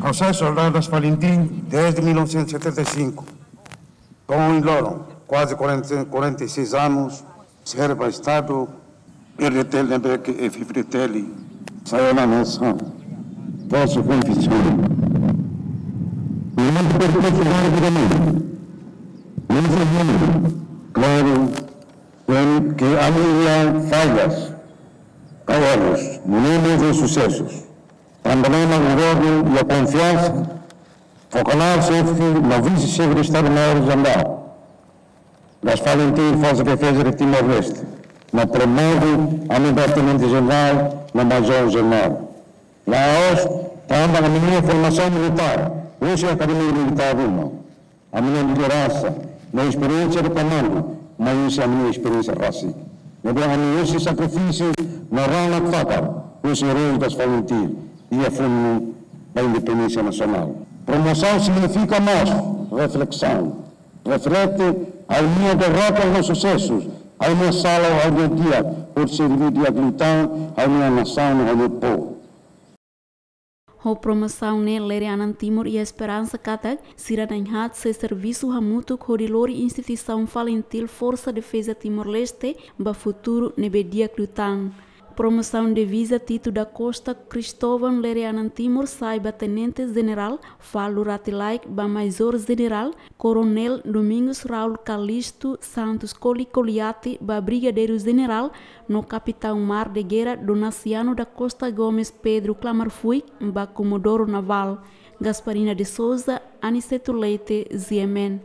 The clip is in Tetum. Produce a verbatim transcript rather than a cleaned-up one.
Ha'u sai soldadu das FALINTIL desde mil novecentos e setenta e cinco. Ohin loron, kuaze quarenta, quarenta e seis anos, serve ba Estadu, R D T L ne'ebé ke F F D T L sai ona nasaun. Posso confessar. Durante o percurso da vida, mas, claro, tem que avaliar falhas, erros, momentos e sucessos. Tanba ne'e mak governu iha konfiansa fó kalan xefe no vise-xefe de Estadu-Maiór Jerál das FALINTIL Forsa Defeza de Timor-Leste, no promove ami ba tenente-jerál no major-jerál. La'ós tanba ami-nia formasaun militár husi akademia militár ruma, ami-nia lideransa no esperiénsia de komandu mai husi ami-nia esperiénsia rasik. Ne'ebé ami husi sakrifísiu no rona fakar husi eróis das FALINTIL iha funu ba independénsia nasionál. Promosaun signifika mós reflesaun. Reflete ha'u-nia derrotas no susesus, ha'u-nia sala, ha'u-nia di'ak, hodi serví di'ak liután ha'u-nia nasaun, ha'u-nia povu. Ho promosaun ne'e, Lere Anan Timor iha esperansa katak sira na'in-haat sei servisu hamutuk hodi lori instituisaun FALINTIL Forsa Defeza Timor-Leste ba futuru ne'ebé di'ak liután. Promosaun diviza Tito da Costa Cristóvão Lere Anan Timor sai ba Tenente-Jerál, Falo Ratilaek ba Major-Jerál, Koronél Domingos Raul Calisto Santos Koli Koliati ba Brigadeiru-Jerál, no Kapitaun Mar de Guerra Donaciano da Costa Gomes Pedro Klamarfuik ba Komodoro Navál. Gasparina de Souza, Aniceto Leite, G M N.